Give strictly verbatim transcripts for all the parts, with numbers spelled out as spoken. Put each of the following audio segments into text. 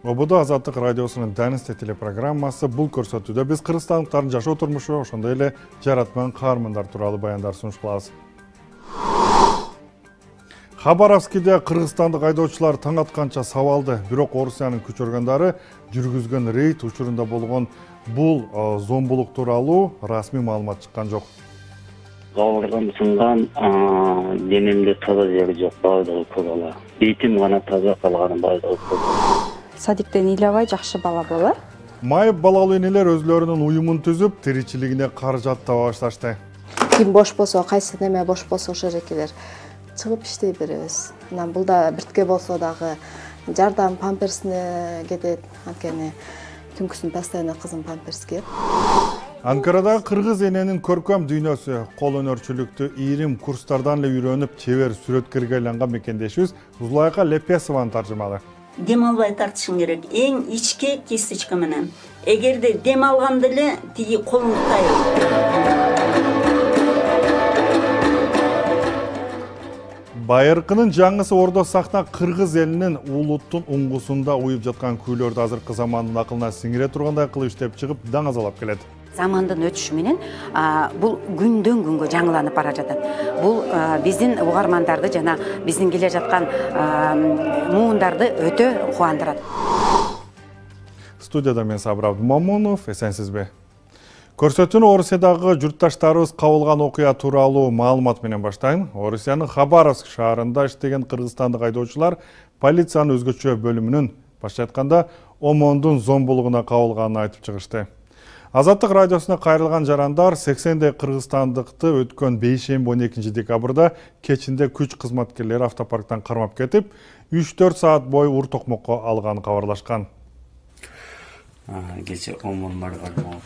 Ободо Азаттык радиосунун Данисте телепрограммасы бул көрсөтүүдө биз кыргызстандыктардын жашоо турмушу, ошондой эле жаратман каармандар тууралуу баяндар сунуш кылабыз. Хабаровскиде кыргызстандык айдоочулар таң атканча сабалды, бирок Орусиянын күч органдары жүргүзгөн рейд учурунда болгон бул зомбулук тууралуу расмий маалымат чыккан жок. Кабыргам сынган, денемде таза жери жок, баардыгы көбала. Бетим гана таза калган, баардыгы көбала. Садиктен ыйлабай жакшы бала болор. Майып балалуу энелер өзлөрүнүн уюмун түзүп, тиричилигине каражат таба башташты. Ким бош болсо, кайсы неме бош болсо ошол жерге чыгып иштей беребиз. Анан бул да биртке болсо дагы жардам памперсине кетет, анткени түнкүсүн постоянно кызым памперс кийет. Анкарадагы кыргыз эненин көркөм дүйнөсү, кол өнөрчүлүктү ийрим курстардан эле үйрөнүп, чебер сүрөткөргө айланган мекендешибиз Зулайка Лепесованын таржымалы. Дем албай тартышың керек. Эң ичке кисточка менен. Эгерде дем алганда эле тиги колуңду тайып. Байыркынын жаңысы Ордо Сахна кыргыз элинин улуттун уңгусунда уюп жаткан күйлөрдү азыркы замандын акылына сиңире тургандай кылып иштеп чыгып даңазалап келет. Замандын өтүшү менен бул күндөн күнгө жаңыланып бара жатат. Бул биздин угармандарды жана биздин келе жаткан муундарды өтө кубандырат. Студияда мен Сабыр Абдумамунов, эсенсизби? Көрсөтүүнү Орусиядагы журтташтарыбыз кабылган окуя тууралуу маалымат менен баштайын. Орусиянын Хабаровск шаарында иштеген кыргызстандык айдоочулар полициянын өзгөчө бөлүмүнүн башкача айтканда ОМОНдун зомбулугуна кабылганын айтып чыгышты. Азаттык радиосуна кайрылган жарандар сексендей кыргызстандыкты өткөн бейшемби он экинчи декабрда кечинде күч кызматкерлери автопарктан кармап кетип, үч төрт саат бою ур токмокко алганын кабарлашкан.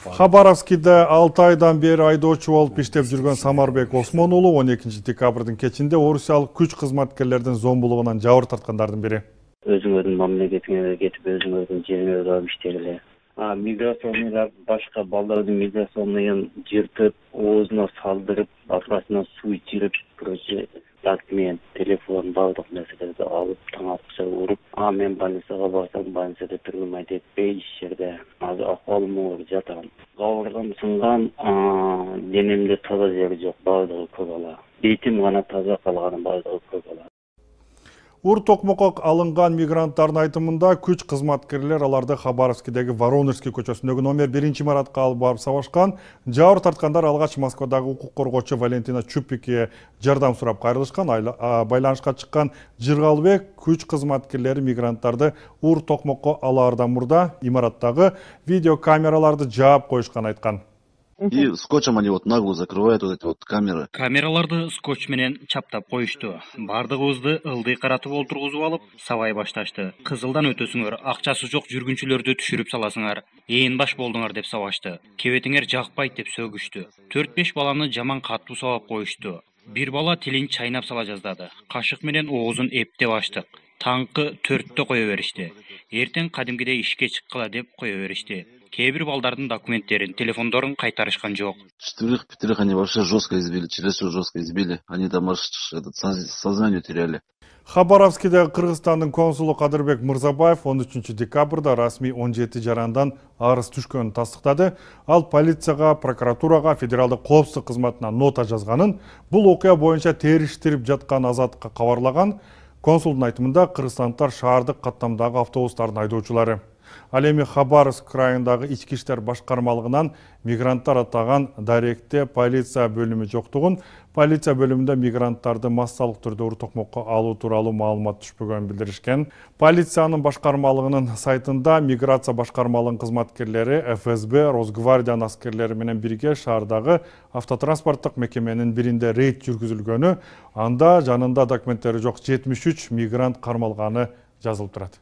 Хабаровскиде алты айдан бери айдоочу болуп иштеп жүргөн Самарбек Осмон уулу он экинчи декабрдын кечинде орусиялык күч кызматкерлердин зомбулугунан жабыр тарткандардын бири. Өзүңөрдүн мамлекетиңерге кетип, өзүңөрдүн жериңерге барып иштегиле. Миграционныйлар башка балдардын миграционныйын жыртып, оозуна салдырып, аркасына суу ичирип, короче, документ, телефон, бардык нерселерди алып, таң аткыча уруп, а мен больницага барсам, больницада турмай детпей, иш жерде. Азыр акыбалым оор жатам. Кабыргам сынган, денемде таза жери жок, бардыгы көбала. Бетим гана таза калган, бардыгы көбала. Ур токмокко алынган мигранттардын айтымында күч кызматкерлер аларды Хабаровскидеги Воронежский көчөсүндөгү номер биринчи имаратка алып барып сабашкан. Жабыр тарткандар алгач Москвадагы укук коргоочу Валентина Чупикке жардам сурап кайрылышкан. Байланышка чыккан Жыргалбек күч кызматкерлери мигранттарды ур токмокко алаардан мурда имараттагы видеокамераларды жаап коюшканын айткан. И скотчем они вот нагло закрывают вот эти вот камеры. Камераларды скотч менен чаптап коюшту. Бардыгыбызды ылдый каратып олтургузуп алып, сабай башташты. Кызылдан өтөсүңөр, акчасы жок жүргүнчүлөрдү түшүрүп саласыңар. Ээн баш болдуңар деп сабашты. Кебетиңер жакпайт деп сөгүштү. төрт беш баланы жаман катуу сабап коюшту. Бир бала тилин чайнап сала жаздады. Кашык менен оозун эптеп аштык. Таңкы төрттө кое беришти. Эртең кадимгидей ишке чыккыла деп кое беришти. Кээ бир балдардын документтерин, телефондорун кайтарышкан жок. Четверых, пятерых они вообще жестко избили, чересчур жестко избили. Они там аж этот сознание теряли. Хабаровскиде Кыргызстандын консулу Кадырбек Мырзабаев он үчүнчү декабрда расмий он жети жарандан арыз түшкөнүн тастыктады. Ал полицияга, прокуратурага, федералдык коопсуздук кызматына нота жазганын, бул окуя боюнча териштирип жаткан Азаттыкка кабарлаган. Консулдун айтымында кыргызстандыктар шаардык каттамдагы автобустардын айдоочулары. Ал эми Хабаровск крайындагы ички иштер башкармалыгынан мигранттар атаган даректе полиция бөлүмү жоктугун, полиция бөлүмүндө мигранттарды массалык түрдө ур токмокко алуу тууралуу маалымат түшпөгөнүн билдиришкен. Полициянын башкармалыгынын сайтында миграция башкармалыгынын кызматкерлери эф эс бэ, Росгвардиянын аскерлери менен бирге шаардагы автотранспорттук мекеменин биринде рейд жүргүзүлгөнү, анда жанында документтери жок жетимиш үч мигрант кармалганы жазылып турат.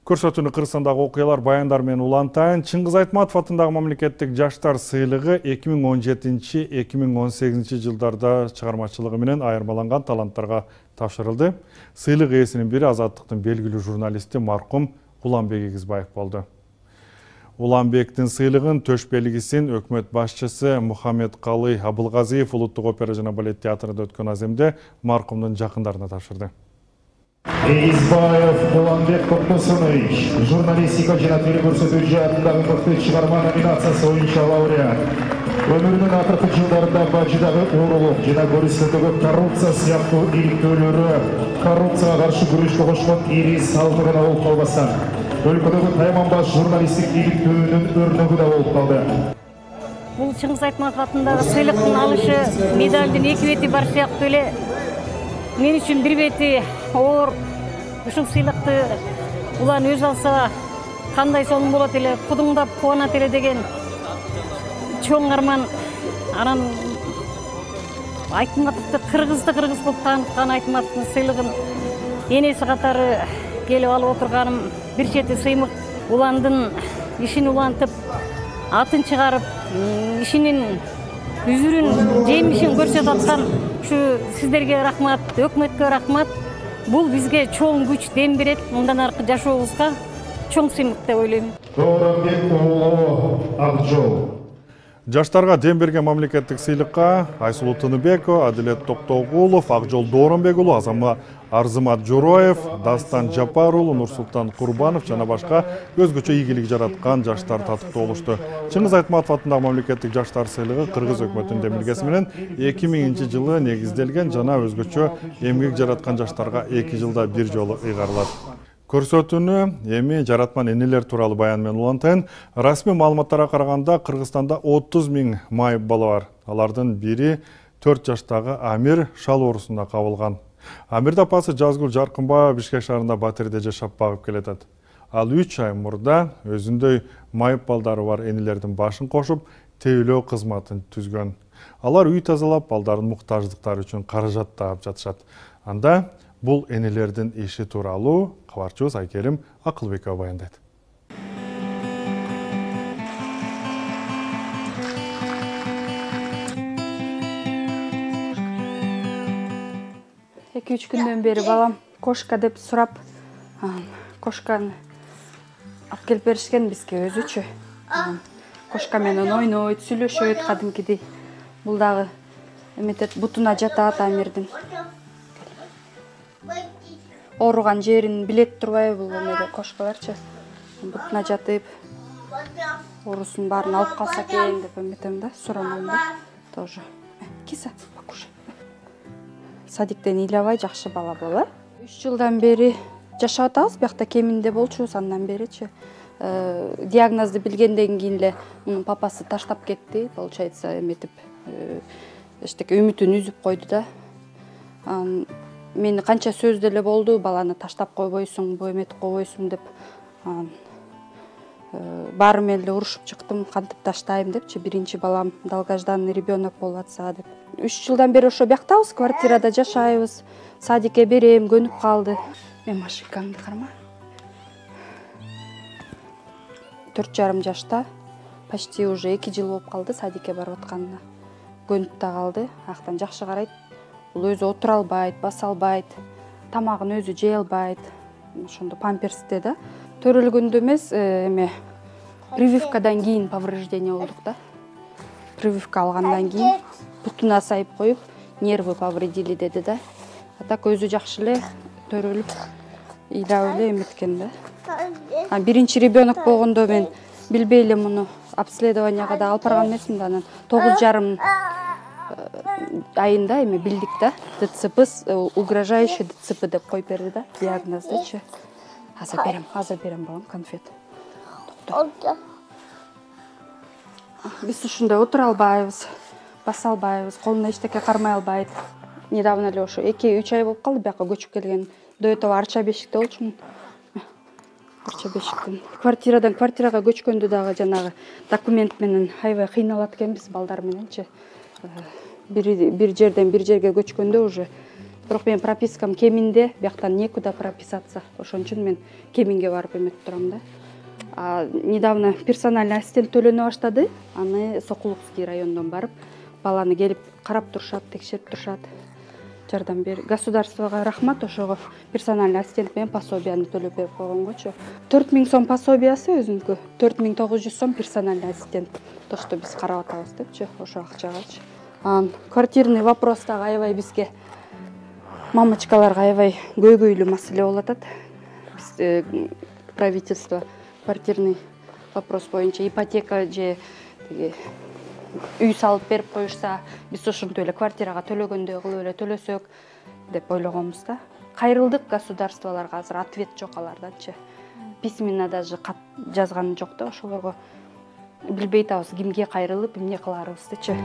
Көрсөтүүнү Кыргызстандагы окуялар баяндар менен улантайын. Чыңгыз Айтматов атындагы мамлекеттик жаштар сыйлыгы эки миң он жетинчи — эки миң он сегизинчи жылдарда чыгармачылыгы менен айырмаланган таланттарга тапшырылды. Сыйлык ээсинин бири Азаттыктын белгилүү журналисти маркум Уланбек Эгизбаев болду. Уланбектин сыйлыгын төш белгисин өкмөт башчысы Мухаммедкалый Абылгазиев Улуттук опера жана балет театрында өткөн аземде маркумдун жакындарына тапшырды. Избаев Уланбек Токтосунович, журналистика жана телекөрсөтүү жаатындагы мыкты чыгарма номинациясы боюнча лауреат. Өмүрүнүн акыркы жылдарында бажыдагы уурулук жана көрүнүштөгү коррупция сыяктуу иликтөөлөрү коррупцияга каршы күрөшкө кошкон ири салдыгына болуп калбастан, өлкөдөгү тайманбаш журналисттик иликтөөнүн өрнөгү да болуп калды. Бул Чыңгыз Айтматов атындагы сыйлыктын алышы медалдын эки бети бар сыяктуу эле мен үчүн бир бети оор. Ушул сыйлыкты улан өз алса кандай сонун болот эле, кудуңдап кубанат эле деген чоң арман. Анан Айтматовду кыргызды кыргыз кылып тааныткан Айтматовдун сыйлыгын энеси катары келип алып отурганым бир чети сыймык. Уландын ишин улантып, атын чыгарып, ишинин үзүрүн, жемишин көрсөтүп аткан ушу сиздерге рахмат, өкмөткө рахмат. Бул бизге чоң күч, дем берет. Мындан аркы жашообузга чоң сыймык деп ойлойм. Дооронбек уулу Акжол. Жаштарга дем берген мамлекеттик сыйлыкка Айсулуу Тыныбекова, Адилет Токтогулов, Акжол Дооронбек уулу, Арзымат Жороев, Дастан Жапар уулу, Нурсултан Курбанов жана башка өзгөчө ийгилик жараткан жаштар татыктуу болушту. Чыңгыз Айтматов атындагы мамлекеттик жаштар сыйлыгы кыргыз өкмөтүнүн демилгеси менен эки миңинчи жылы негизделген жана өзгөчө эмгек жараткан жаштарга эки жылда бир жолу ыйгарылат. Көрсөтүүнү эми жаратман энелер тууралуу баян менен улантайын. Расмий маалыматтарга караганда Кыргызстанда отуз миң майып бала бар. Алардын бири төрт жаштагы Амир шал оорусуна кабылган. Амирдин апасы Жазгүл Жаркынбаева Бишкек шаарында батирде жашап багып келатат. Ал үч ай мурда өзүндөй майып балдары бар энелердин башын кошуп, тейлөө кызматын түзгөн. Алар үй тазалап, балдардын муктаждыктары үчүн каражат таап жатышат. Анда бул энелердин иши тууралуу кабарчыбыз Айкерим Акылбекова баяндайт. эки үч күндөн бери балам кошка деп сурап, кошканы алып келип беришкен бизге өзүчө. Кошка менен ойнойт, сүйлөшөт кадимкидей. Бул дагы эметет, бутуна жатат Амирдин. Ооруган жерин билет турбайбы бул эмеде кошкаларчы. Бутуна жатып, оорусун баарын алып калса экен деп эметем да, суранам да. Тоже. Киса, покушай. Садиктен ыйлабай жакшы бала боло. үч жылдан бери жашап атабыз, биякта кеминде болчубуз андан беричи. Диагнозду билгенден кийин эле мунун папасы таштап кетти, получается, эметип, эчтеке үмүтүн үзүп койду да. Мени канча сөз деле болду, баланы таштап койбойсуң, бу эметип койбойсуң деп. Баары менен эле урушуп чыктым, кантип таштайм депчи, биринчи балам долгожданный ребенок болуп атса деп. үч жылдан бери ошо бияктабыз, квартирада жашайбыз. Садикке берем, көнүп калды. Мен машинкаңды карма. төрт жарым жашта, почти уже эки жыл болуп калды садикке барып атканына. Көнүп да калды, актан жакшы карайт. Бул өзү отура албайт, баса албайт, тамагын өзү жей албайт. Ошондо памперсте да. Төрөлгөндө эмес, эме прививкадан кийин повреждение болдук да. Прививка алгандан кийин бутуна сайып коюп, нервы повредили деди да. А так өзү жакшы эле төрөлүп, ыйлап эле эметкен да. А биринчи ребенок болгондо мен билбей эле муну обследованияга да алып барган эмесмин да, анан тогуз жарым айында эми билдик да. ДЦП, угрожающий ДЦП деп коюп берди да, диагноздучу. Азыр берем, азыр берем балам конфет. Биз ушундай отура албайбыз, баса албайбыз, колуна эчтеке кармай албайт. Недавно эле ошо эки үч ай болуп калды бияка көчүп келген. До этого Арча бешикте болчумун. Арча бешиктен. Квартирадан квартирага көчкөндө дагы жанагы документ менен аябай кыйналат экенбиз балдар мененчи. Бир бир жерден бир жерге көчкөндө уже бирок мен пропискам кеминде, бияктан некуда прописаться. Ошон үчүн мен кеминге барып эметип турам да. А недавно персональный ассистент төлөнө баштады. Аны Сокулукский райондон барып, баланы келип карап турушат, текшерип турушат. Жардам бер. Государствого рахмат, ошого персональный ассистент менен пособияны төлөп берип койгонгочу. төрт миң сом пособиясы өзүнүкү, төрт миң тогуз жүз сом персональный ассистент. То, что биз карап атабыз депчи, ошо акчагачы. Анан квартирный вопрос дагы аябай бизге мамочкаларга аябай көйгөйлүү маселе болуп атат. Биз правительство квартирный вопрос боюнча ипотека же үй салып берип коюшса, биз ошентип эле квартирага төлөгөндөй кылып эле төлөсөк деп ойлогонбуз да. Кайрылдык государстволорго, азыр ответ жок алардачы. Письменно даже кат жазган жок да, ошолорго билбей атабыз кимге кайрылып, эмне кыларыбыздычы.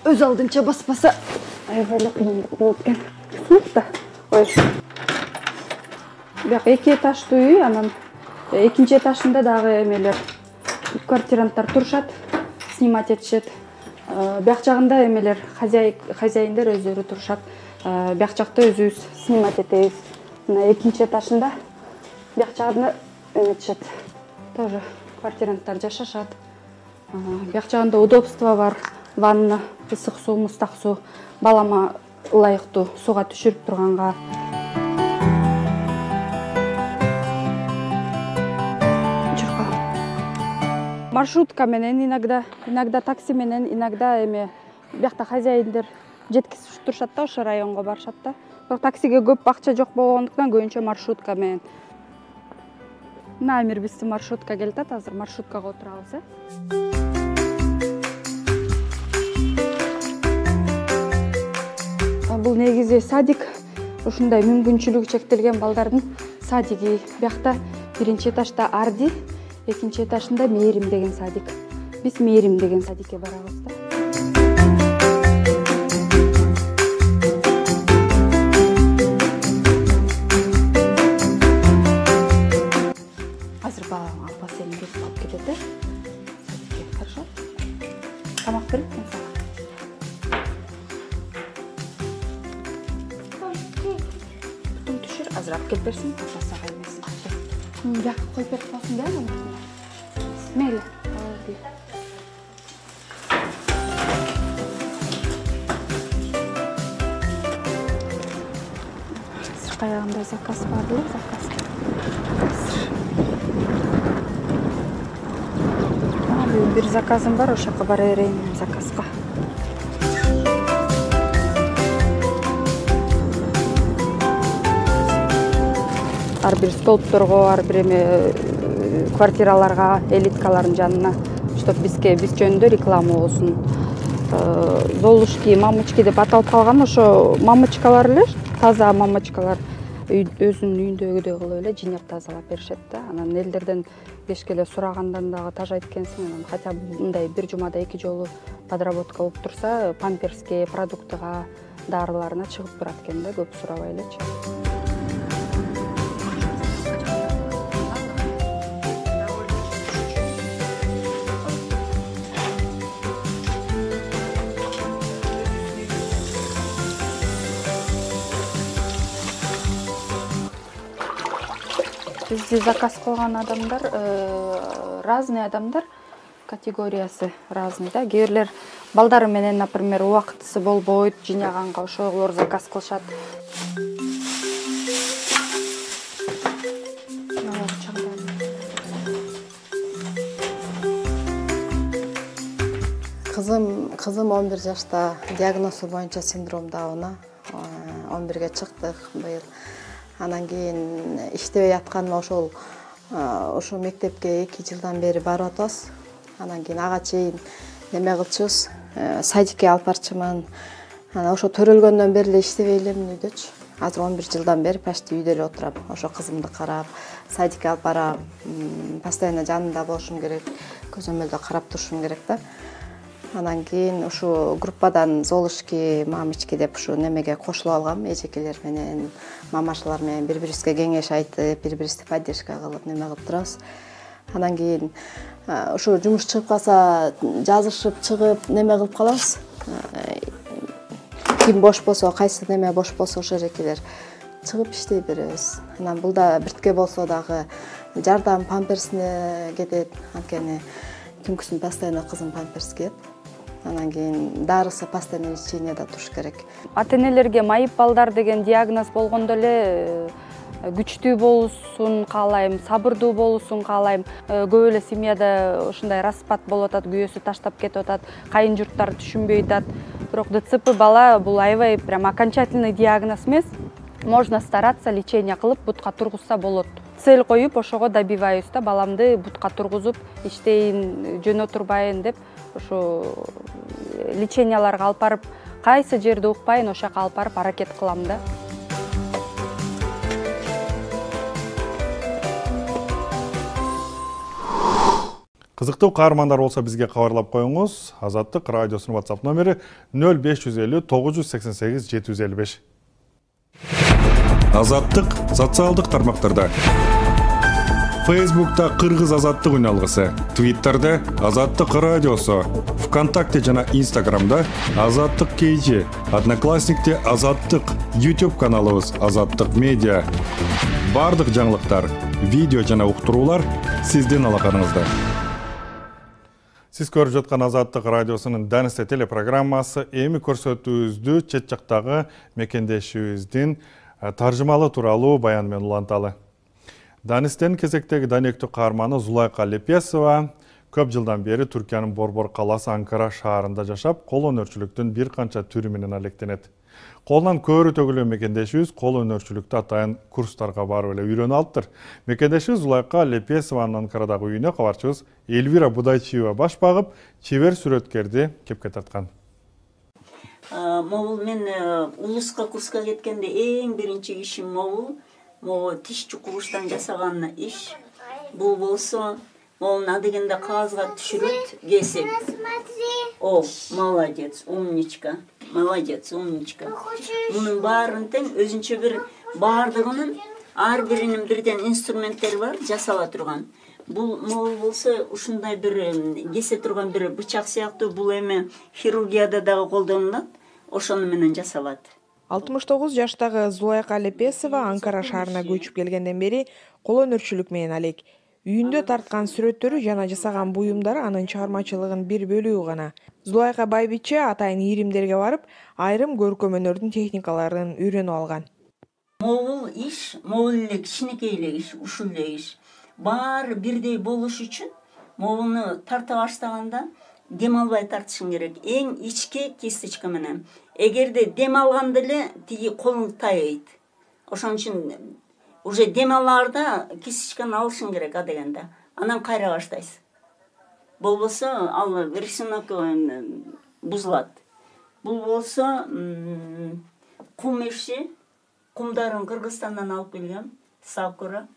Өз алдынча баспаса аябай эле кыйындык болуп экен. Сыныкта. Ой. Бияк эки этаждуу үй, анан экинчи этажында дагы эмелер, квартиранттар турушат, снимать этишет. Бияк жагында эмелер, хозяиндер өздөрү турушат. Бияк жакта өзүбүз снимать этебиз. Мына экинчи этажында бияк жагында эметишет. Тоже квартиранттар жашашат. Бияк жагында удобство бар. Ванна, ысык суу, мустак суу, балама ылайыктуу сууга түшүрүп турганга. Маршрутка менен иногда, иногда такси менен, иногда эме биякта хозяиндер жеткизип турушат да, ошо районго барышат да. Бирок таксиге көп акча жок болгондуктан көбүнчө маршрутка менен. Мына Амир бизди маршрутка келатат, азыр маршруткага отурабыз, э. Бул негизи садик, ушундай мүмкүнчүлүгү чектелген балдардын садиги. Биякта биринчи этажда Арди, экинчи этажында Мээрим деген садик. Биз Мээрим деген садикке барабыз да. Азыр балам апа сени келип алып кетет, э. Садикке, хорошо? Тамак берип сага. Азыр алып келип берсин, апа сага эмесин. Бияк коюп берип коесуң да, аны. Мейли. Каягында заказ бар беле, заказ. Бир заказым бар, ошо жака бара берейин заказга. Ар бир столбторго, ар бир эме квартираларга, элиткалардын жанына, чтоб бизге биз жөнүндө реклама болсун. Золушки, мамочки деп аталып калган, ошо мамочкалар эле, таза мамочкалар өзүнүн үйүндөгүдөй кылып эле жыйнап тазалап беришет да. Анан элдерден кечке сурагандан дагы тажайт экенсиң, анан хотя бы мындай бир жумада эки жолу подработка болуп турса, памперске, продуктыга, дарыларына чыгып турат экен да, көп сурабай элечи. Бизди заказ кылган адамдар разный адамдар, категориясы разный да. Кээ бирлер балдары менен, например, убактысы болбойт, жыйнаганга ошолор заказ кылышат. Кызым, кызым он бир жашта, диагнозу боюнча синдром Дауна. он бирге чыктык быйыл. Анан кийин иштебей атканыма ошол ошо мектепке эки жылдан бери барып атабыз. Анан кийин ага чейин неме кылчубуз, садикке алып барчумун. Анан ошо төрөлгөндөн бери эле иштебей элемин үйдөчү. Азыр он бир жылдан бери почти үйдө эле отурам. Ошо кызымды карап, садикке алып барам, постоянно жанында болушум керек, көзөмөлдө карап турушум керек да. Анан кийин ушу группадан Золушки, мамочки деп ушу немеге кошулуп алгам, эжекелер менен, мамашалар менен бири-бирибизге кеңеш айтып, бири-бирибизди поддержка кылып неме кылып турабыз. Анан кийин ушу жумуш чыгып калса, жазышып чыгып неме кылып калабыз. Ким бош болсо, кайсы неме бош болсо ошо жеркелер чыгып иштей беребиз. Анан бул да биртке болсо дагы жардам памперсине кетет, анткени түнкүсүн постоянно кызым памперс кийет. Анан кийин дарысы постоянно лечениеде туруш керек. Ата-энелерге майып балдар деген диагноз болгондо эле күчтүү болушун каалайм, сабырдуу болушун каалайм. Көп эле семьяда ушундай распад болуп атат, күйөөсү таштап кетип атат, кайын журттары түшүнбөй атат. Бирок ДЦП бала бул аябай прям окончательный диагноз эмес. Можно стараться, лечение кылып бутка тургузса болот. Цель коюп ошого добиваюсь да, баламды бутка тургузуп иштейин, жөн отурбайын деп ошо леченияларга алып барып, кайсы жерди укпайын ошол жака алып барып аракет кылам да. Кызыктуу каармандар болсо бизге кабарлап коюңуз. Азаттык радиосунун WhatsApp номери нөл беш жүз элүү тогуз жүз сексен сегиз жети жүз элүү беш. Азаттык социалдык тармактарда. Facebook'ta Кыргыз Азаттык үналгысы, Twitter'да Азаттык радиосу, ВКонтакте жана Instagram'да Азаттык кей джи, Одноклассникте Азаттык, YouTube каналыбыз Азаттык медиа. Бардык жаңылыктар, видео жана уктуруулар сиздин алаканыңызда. Сиз көрүп жаткан Азаттык радиосунун Данисте телепрограммасы эми көрсөтүүбүздү чет жактагы мекендешибиздин таржымалы тууралуу баян менен уланталы. Данистен кезектеги данектүү каарманы Зулайка Лепесова көп жылдан бери Түркиянын Борбор каласы Анкара шаарында жашап, кол өнөрчүлүктүн бир канча түрү менен алектенет. Колунан көөрү төгүлгөн мекендешибиз кол өнөрчүлүктү атайын курстарга барып эле үйрөнүп алыптыр. Мекендешибиз Зулайка Лепесованын Анкарадагы үйүнө кабарчыбыз Эльвира Будайчиева баш багып, чебер сүрөткерди кепке тарткан. Могул мен улуска курска кеткенде эң биринчи ишим могул, могу тиш чукуруштан жасаган иш. Бул болсо могулун адегенде кагазга түшүрөт, кесип. О, молодец, умничка. Молодец, умничка. Мунун баарын тең өзүнчө бир баардыгынын ар биринин бирден инструменттери бар, жасала турган. Бул могул болсо ушундай бир кесе турган бир бычак сыяктуу, бул эми хирургияда дагы колдонулат, ошону менен жасалат. алтымыш тогуз жаштагы Зулайка Лепесова Анкара шаарына көчүп келгенден бери кол өнөрчүлүк менен алек. Үйүндө тарткан сүрөттөрү жана жасаган буюмдары анын чыгармачылыгынын бир бөлүгү гана. Зулайка байбиче атайын иримдерге барып, айрым көркөм өнөрдүн техникаларын үйрөнүп алган. Могул иш, могул эле кичинекей эле иш, ушул эле иш. Баары бирдей болуш үчүн могулну тарта баштаганда дем албай тартышың керек. Эң ичке кисточка менен. Эгерде дем алганда эле тиги колуң тайыйт. Ошон үчүн уже дем алаарда кисточканы алышың керек адегенде. Анан кайра баштайсың. Болбосо ал рисунок бузулат. Бул болсо кум иши, кумдарын Кыргызстандан алып келгем, Сакура.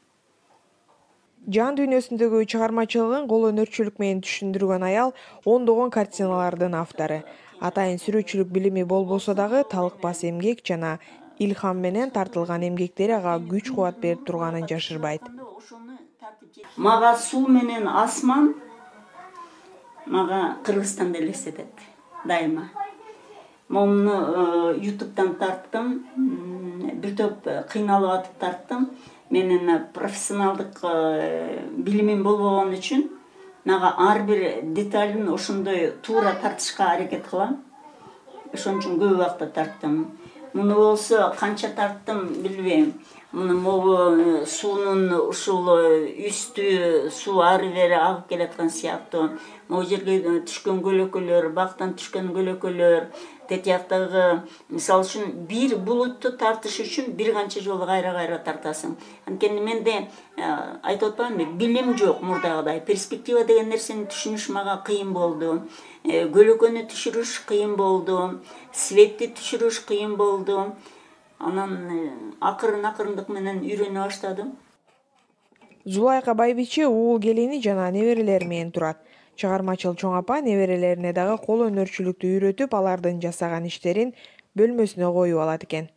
Жан дүйнөсүндөгү чыгармачылыгын кол өнөрчүлүк менен түшүндүргөн аял ондогон картиналардын автору. Атайын сүрөтчүлүк билими болбосо дагы талыкпас эмгек жана илхам менен тартылган эмгектери ага күч кубат берип турганын жашырбайт. Мага суу менен асман мага Кыргызстанды элестетет дайыма. Муну ютубтан тарттым, бир топ кыйналып атып тарттым. Менин профессионалдык билимим болбогон үчүн мага ар бир деталын ошондой туура тартышка аракет кылам. Ошон үчүн көп убакта тарттым. Муну болсо канча тарттым билбейм. Муну могу суунун ушул үстү суу ары бери агып келаткан сыяктуу. Могу жерге түшкөн көлөкөлөр, бактан түшкөн көлөкөлөр, тет жактагы мисалы үчүн бир булутту тартыш үчүн бир канча жолу кайра-кайра тартасың. Анткени менде айтып атпаймынбы, билим жок мурдагыдай. Перспектива деген нерсени түшүнүш мага кыйын болду. Көлөкөнү түшүрүш кыйын болду. Светти түшүрүш кыйын болду. Анан акырын-акырындык менен үйрөнө баштадым. Зулайка байбиче уул келини жана неберелери менен турат. Чыгармачыл чоң апа неберелерине дагы кол өнөрчүлүктү үйрөтүп, алардын жасаган иштерин бөлмөсүнө коюп алат экен.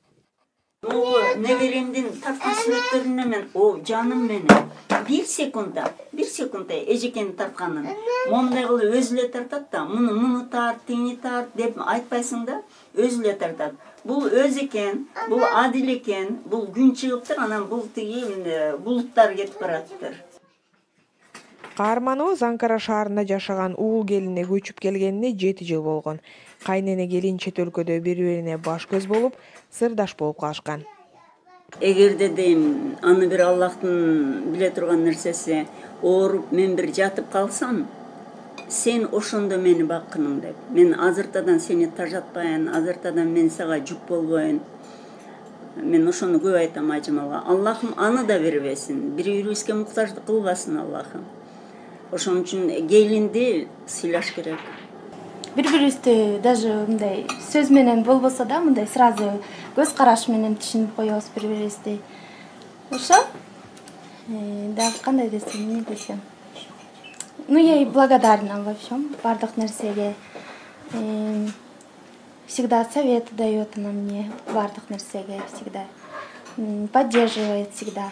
Неберемдин тарткан сүрөттөрүнө мен, о, жаным менен, бир секундда, бир секундда эжекени тартканын. Мондай кылып өзү эле тартат да, муну муну тарт, тини тарт деп айтпайсың да, өзү эле тартат. Бул өз экен, бул адил экен, бул күн чыгыптыр, анан бул тиги булуттар кетип бараттыр. Каарманыбыз Анкара шаарында жашаган уул келине көчүп келгенине жети жыл болгон. Кайнене келин чет өлкөдө бири-бирине баш көз болуп, сырдаш болуп калышкан. Эгерде дейм, аны бир Аллахтын биле турган нерсеси, ооруп мен бир жатып калсам, сен ошондо мени баккының деп. Мен азыртадан сени тажатпайын, азыртадан мен сага жүк болбойн. Мен ошону көп айтам ажымалга. Аллахым аны да бербесин. Бири-бирибизге муктаждык кылбасын Аллахым. Ошон үчүн келинди сыйлаш керек. Бири-бирибизди даже мындай сөз менен болбосо да, мындай сразу көз караш менен түшүнүп коебуз бири-бирибизди. Ошо дагы кандай десем, эмне десем. Ну, я и благодарна во всем, бардык нерсеге. Всегда совет дает она мне, бардык нерсеге всегда. Поддерживает всегда.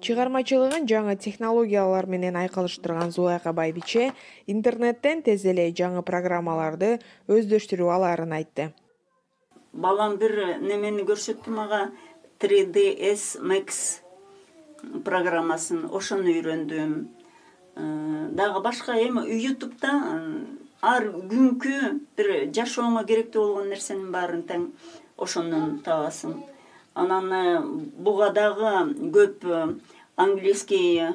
Чыгармачылыгын жаңы технологиялар менен айкалыштырган Зулайка Байбиче интернеттен тез эле жаңы программаларды өздөштүрүп аларын айтты. Балам бир немени көрсөттү мага, три дэ эс Max программасын, ошону үйрөндүм. Дагы башка эми ютубта ар күнкү бир жашооңо керектүү болгон нерсенин баарын тең ошондон табасың. Анан буга дагы көп английский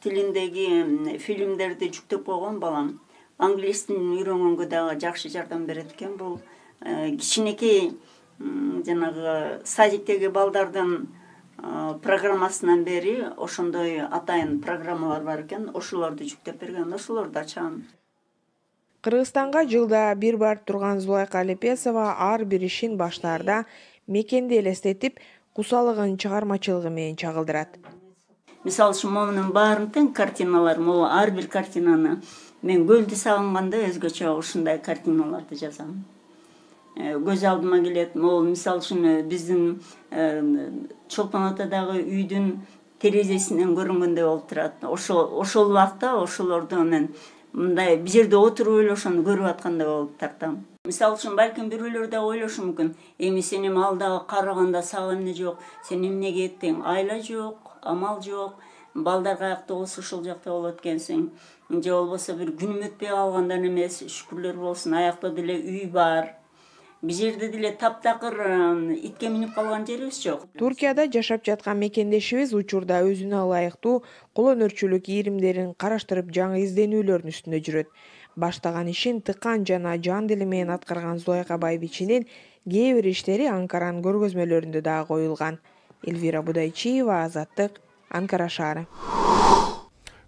тилиндеги фильмдерди жүктөп койгон балам. Англис тилин үйрөнгөнгө дагы жакшы жардам берет экен. Бул кичинекей жанагы садиктеги балдардын программасынан бери ошондой атайын программалар бар экен. Ошолорду жүктөп берген, ошолорду ачам. Кыргызстанга жылда бир барып турган Зулайка Алепесова ар бир ишин баштаарда мекенди элестетип, кусалыгын чыгармачылыгы менен чагылдырат. Мисалы үчүн монун баарын тең картиналар, могу ар бир картинаны мен көлдү сагынганда өзгөчө ушундай картиналарды жазам. Көз алдыма келет, могу мисалы үчүн биздин Чолпон атадагы үйдүн терезесинен көрүнгөндөй болуп турат. Ошол ошол убакта ошолорду мен мындай бир жерде отуруп эле ошону көрүп аткандай болуп тартам. Мисалы үчүн балким бирөөлөр да ойлошу мүмкүн. Эми сен эми алдагы караганда сага эмне жок, сен эмнеге еттиң? Айла жок, амал жок. Балдар каякта болсо ошол жакта болот экенсиң. Же болбосо бир күнүм өтпөй калгандан эмес, шүкүрлөр болсун, аякта деле үй бар. Бир жерде деле таптакыр итке минип калган жерибиз жок. Туркияда жашап жаткан мекендешибиз учурда өзүнө ылайыктуу колөнөрчүлүк ийримдерин караштырып жаңы изденүүлөрдүн үстүндө жүрөт. Баштаган ишин тыкан жана жан дили менен аткарган Зулайка Байбиченин кээ бир иштери Анкаранын көргөзмөлөрүндө дагы коюлган. Эльвира Будайчиева, Азаттык, Анкара шаары.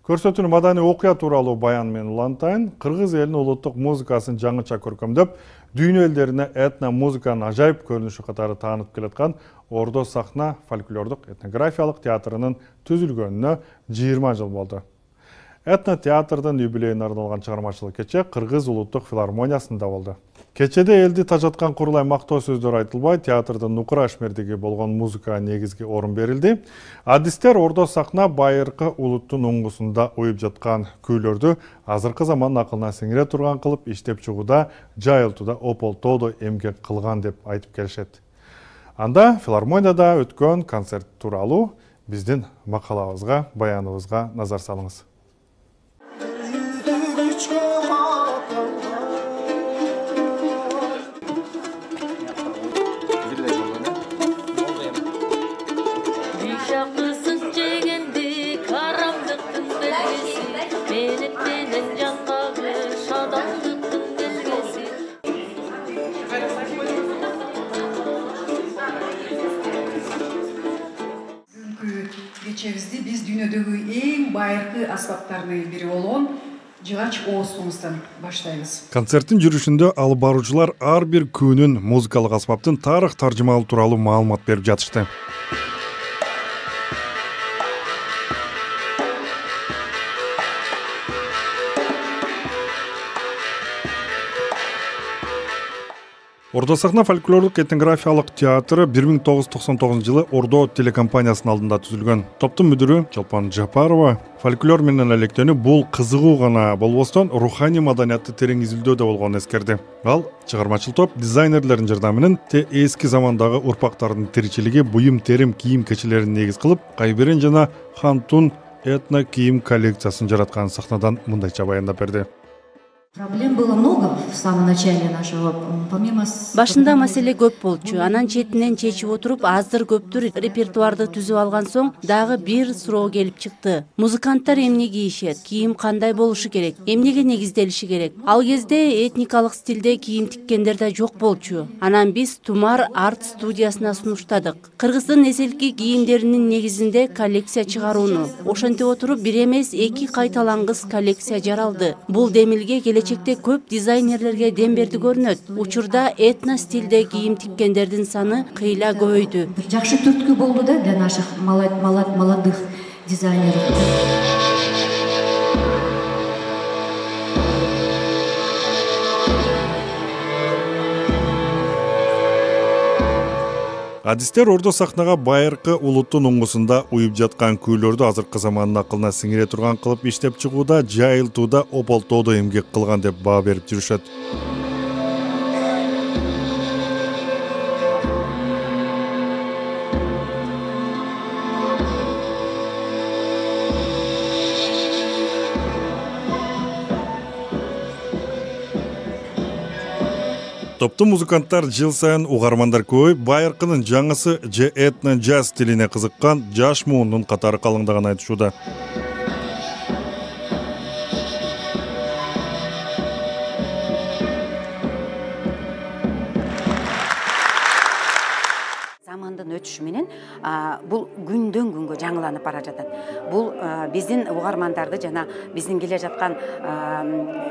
Көрсөтүүнү маданий окуя тууралуу баян менен улантайын. Кыргыз элинин улуттук музыкасын жаңыча көркөмдөп, дүйнө элдерине этно музыканын ажайып көрүнүшү катары таанып келаткан Ордо сахна фольклордук этнографиялык театрынын түзүлгөнүнө жыйырма жыл болду. Этно театрдын юбилейине арналган чыгармачылык кече Кыргыз улуттук филармониясында болду. Кечеде элди тажаткан курулай мактоо сөздөр айтылбай, театрдын нукура ишмердиги болгон музыкага негизги орун берилди. Адистер Ордо сахна байыркы улуттун уңгусунда уюп жаткан күйлөрдү азыркы замандын акылына сиңире турган кылып иштеп чыгууда, жайылтууда ополтоодо эмгек кылган деп айтып келишет. Анда филармонияда өткөн концерт тууралуу биздин макалабызга, баяныбызга назар салыңыз. Кечебизди биз дүйнөдөгү эң байыркы аспаптардын бири болгон жыгач оозубуздан баштайбыз. Концерттин жүрүшүндө алып баруучулар ар бир күнүн музыкалык аспаптын тарых таржымалуу тууралуу маалымат берип жатышты. Ордо сахна фольклордук этнографиялык театры бир миң тогуз жүз токсон тогузунчу жылы Ордо телекомпаниясынын алдында түзүлгөн. Топтун мүдүрү Чолпон Жапарова фольклор менен электөнү бул кызыгуу гана болбостон руханий маданиятты терең изилдөөдө болгонун эскерди. Ал чыгармачыл топ дизайнерлердин жардамы менен те эски замандагы урпактардын тиричилиги, буюм терим кийим кечилерин негиз кылып, Кайберен жана Хантун этно кийим коллекциясын жараткан сахнадан мындайча баяндап берди. Проблем было много в самом начале нашего, помимо... Башында маселе көп болчу. Анан четинен чечип отуруп, аздыр көптүр репертуарды түзүп алган соң дагы бир суроо келип чыкты. Музыканттар эмне кийишет? Кийим кандай болушу керек? Эмнеге негизделиши керек? Ал кезде этникалык стилде кийим тиккендер да жок болчу. Анан биз Тумар арт студиясына сунуштадык. Кыргыздын эселки кийимдеринин негизинде коллекция чыгарууну. Ошентип отуруп бир эмес эки кайталангыс коллекция жаралды. Бул демилге келечекте көп дизайнерлерге дем берди көрүнөт. Учурда этно стилде кийим тиккендердин саны кыйла көбөйдү. Жакшы түрткү болду да для наших молодых дизайнеров. Адистер ордо сахнага байыркы улуттун уңгусунда уюп жаткан күүлөрдү азыркы замандын акылына сиңире турган кылып иштеп чыгууда, жайылтууда, ополтоодо эмгек кылган деп баа берип жүрүшөт. Топтун музыканттар жыл сайын угармандар көбөйүп, байыркынын жаңысы же этно джаз стилине кызыккан жаш муундун катары калыңдаган айтышууда. Замандын өтүшү менен бул күндөн күнгө жаңыланып бара жатат. Бул биздин угармандарды жана биздин келе жаткан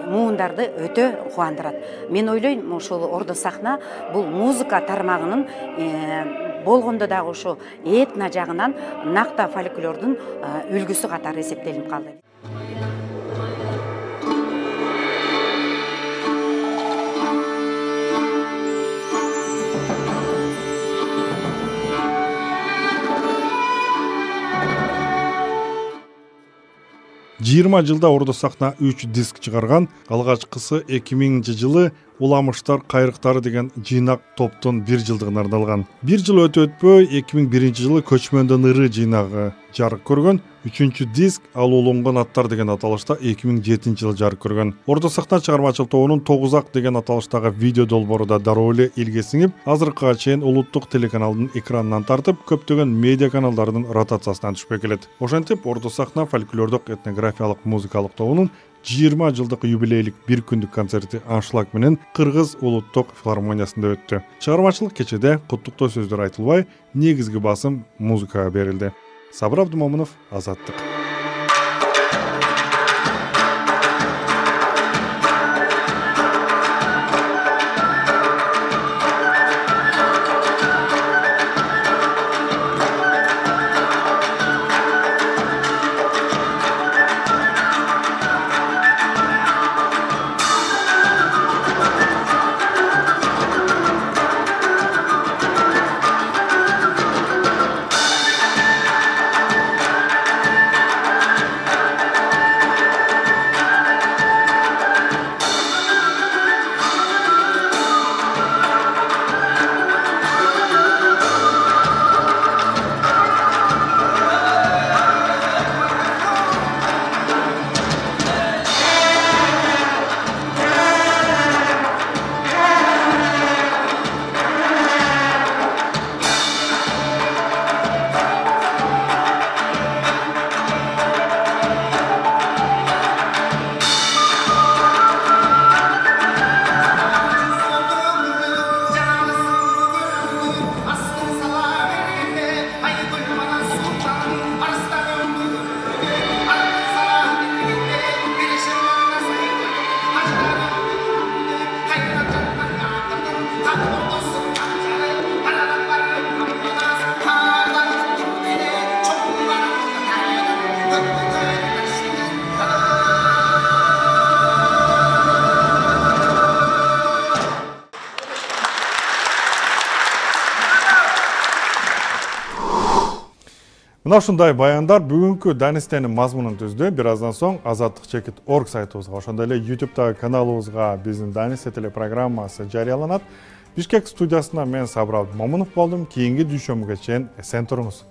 муундарды өтө кубандырат. Мен ойлойм, ошол ордо сахна бул музыка тармагынын болгондо дагы ошо этно жагынан накта фольклордун үлгүсү катары эсептелип калды. жыйырма жылда ордо сахна үч диск чыгарган. Алгачкысы эки миңинчи жылы Уламыштар кайрыктары деген жыйнак топтун бир жылдыгына арналган. Бир жыл өтө өтпөй эки миң биринчи жылы Көчмөндөн ыры жыйнагы жарык көргөн. Үчүнчү диск Ал улонгон аттар деген аталышта эки миң жетинчи жылы жарык көргөн. Ордо сахна чыгармачылык тобунун тогуз ак деген аталыштагы видео долбоору да дароо эле илге сиңип, азыркыга чейин улуттук телеканалдын экранынан тартып, көптөгөн медиа каналдардын ротациясынан түшпөй келет. Ошентип, Ордо сахна фольклордук этнографиялык музыкалык тобунун жыйырма жылдык юбилейлик бир күндүк концерти аншлаг менен Кыргыз улуттук филармониясында өттү. Чыгармачылык кечеде куттуктоо сөздөр айтылбай, негизги басым музыкага берилди. Сабыр Абдумомунов, Азаттык. Мына ушундай баяндар бүгүнкү Данистенин мазмунун түздү. Бир аздан соң азаттык чекит точка орг сайтыбызга, ошондой эле YouTube'дагы каналыбызга биздин Данисте телепрограммасы жарыяланат. Бишкек студиясында мен Сабыр Абдумомунов болдум. Кийинки дүйшөмгө чейин эсен туруңуз.